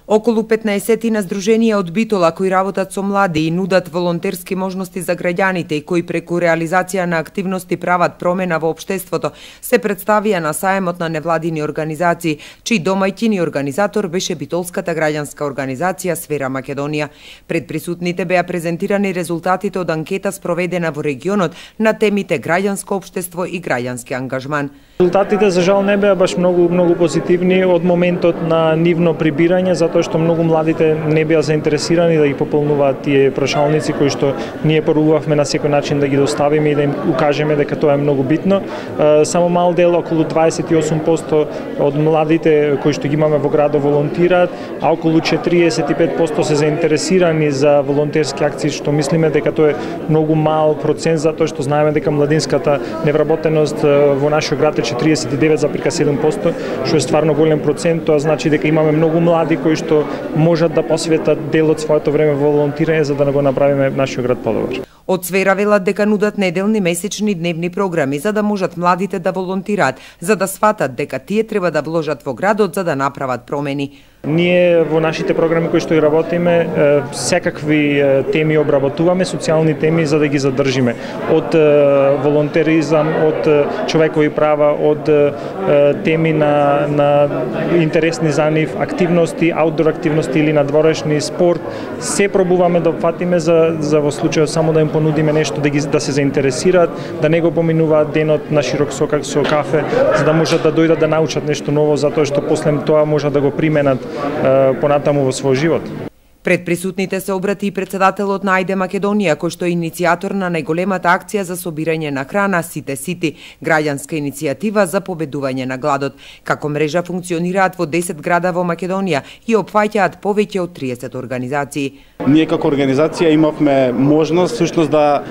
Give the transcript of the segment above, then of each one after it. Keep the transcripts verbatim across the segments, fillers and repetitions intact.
Околу петнаесет здруженија од Битола кои работат со млади и нудат волонтерски можности за граѓаните и кои преку реализација на активности прават промена во општеството, се представија на саемот на невладини организации, чиј домаќин и организатор беше битолската граѓанска организација Сфера Македонија. Пред присутните беа презентирани резултатите од анкета спроведена во регионот на темите граѓанско општество и граѓански ангажман. Резултатите за жал не беа баш многу многу позитивни од моментот на нивно прибирање, затоа што многу младите не беа заинтересирани да ги пополнуваат тие прашалници кои што ние порувавме на секој начин да ги доставиме и да им укажеме дека тоа е многу битно. Само мал дел, околу дваесет и осум проценти од младите кои што ги имаме во градот волонтираат, а околу четириесет и пет проценти се заинтересирани за волонтерски акции, што мислиме дека тоа е многу мал процент, затоа што знаеме дека младинската невработеност во нашиот град е четириесет и девет зарез седум проценти, што е стварно голем процент. Тоа значи дека имаме многу млади кои што можат да посветат дел од своето време во волонтирање за да го направиме нашиот град подобар. Од Сфера велат дека нудат неделни, месечни, дневни програми за да можат младите да волонтираат, за да сватат дека тие треба да вложат во градот за да направат промени. Ние во нашите програми кои што и работиме, секакви теми обработуваме, социјални теми за да ги задржиме. Од волонтеризам, од човекови права, од теми на, на интересни за нив, активности, аутдор активности или надворешни, спорт, се пробуваме да опфатиме за, за во случајот само да им понудиме нешто да ги да се заинтересираат, да не го поминуваат денот на широк сокак со кафе, за да можат да дојдат да научат нешто ново, затоа што после тоа можат да го применат понатаму во свој живот. Пред присутните се обрати и председателот на Ајде Македонија, кој што е иницијатор на најголемата акција за собирање на храна Сите Сити, граѓанска иницијатива за победување на гладот. Како мрежа функционираат во десет града во Македонија и опфаќаат повеќе од триесет организации. Ние како организација имавме можност всушност да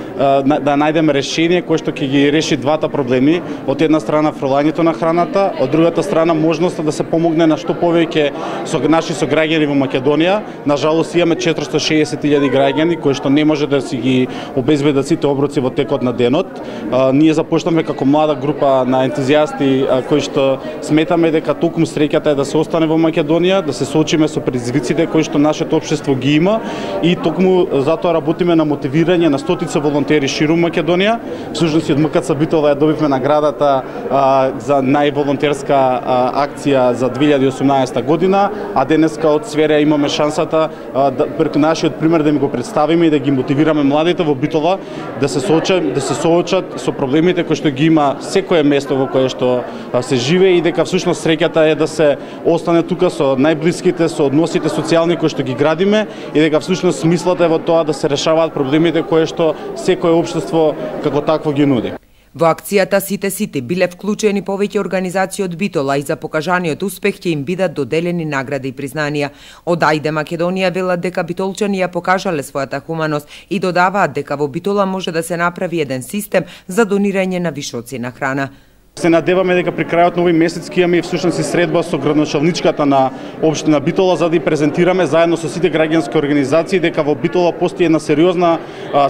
да најдеме решение кое што ќе ги реши двата проблеми. Од една страна фрлањето на храната, од другата страна можноста да се помогне на што повеќе со наши сограѓани во Македонија. На жалост имаме четиристотини и шеесет илјади граѓани кои што не може да си ги обезбедат сите оброци во текот на денот. А, ние започнавме како млада група на ентузијасти а, кои што сметаме дека токму среќата е да се остане во Македонија, да се соочиме со предизвиците кои што нашето општество ги има и токму затоа работиме на мотивирање на стотици волонтери ширум Македонија. Всушност од МКЦ Битола ја добивме наградата а, за најволонтерска а, акција за две илјади и осумнаесета година, а денеска од Сфера имаме шансата да преку нашиот пример да ми го представиме и да ги мотивираме младите во Битола да се соочат, да се соочат со проблемите кои што ги има секое место во кое што се живее и дека всушност среќата е да се остане тука со најблиските, со односите социјални кои што ги градиме и дека всушност смислата е во тоа да се решаваат проблемите кои што секое општество како такво ги нуди. Во акцијата Сите Сити биле вклучени повеќе организации од Битола и за покажаниот успех ќе им бидат доделени награди и признанија. Од Ајде Македонија велат дека битолчани ја покажале својата хуманост и додаваат дека во Битола може да се направи еден систем за донирање на вишоци на храна. Се надеваме дека при крајот на овој месец ќе имаме всушност и средба со градоначалничката на општина Битола за да ја презентираме заедно со сите граѓански организации дека во Битола постои една сериозна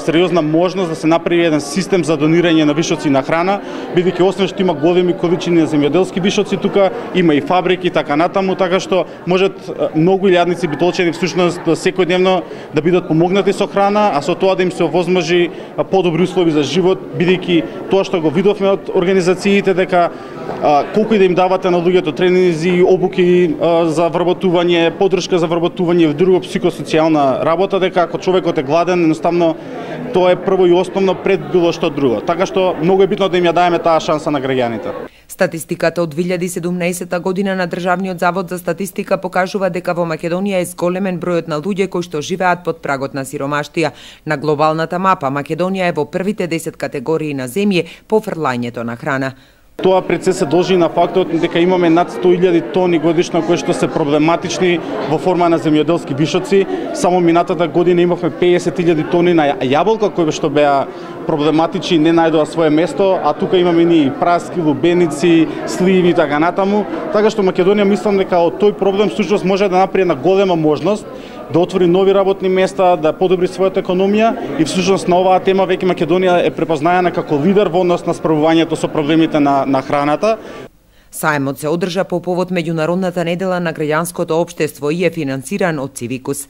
сериозна можност да се направи еден систем за донирање на вишоци на храна, бидејќи освен што има големи количини на земјоделски вишоци тука има и фабрики и така натаму, така што можат многу илјадници битолчани всушност секојдневно да бидат помогнати со храна, а со тоа да им се овозможи подобри услови за живот, бидејќи тоа што го видовме од организациите дека а, колку и да им давате на луѓето тренинзи, обуки а, за вработување, поддршка за вработување и друго психосоцијална работа, дека ако човекот е гладен, едноставно тоа е прво и основно пред било што друго. Така што многу е битно да им ја даеме таа шанса на граѓаните. Статистиката од две илјади и седумнаесета година на Државниот завод за статистика покажува дека во Македонија е зголемен бројот на луѓе кои што живеат под прагот на сиромаштија. На глобалната мапа Македонија е во првите десет категории на земји по фрлањето на храна. Тоа пред се се должи на фактот дека имаме над сто илјади тони годишно кои што се проблематични во форма на земјоделски вишоци. Само минатата година имавме пеесет илјади тони на јаболка кои што беа проблематични, не најдоа свое место, а тука имаме ни праски, лубеници, сливи и така натаму. Така што Македонија мислам дека од тој проблем всушност може да направи една голема можност да отвори нови работни места, да подобри својата економија и всушност на оваа тема веќе Македонија е препознаена како лидер во однос на справувањето со проблемите на, на храната. Саемот се одржа по повод меѓународната недела на граѓанското општество и е финансиран од Цивикус.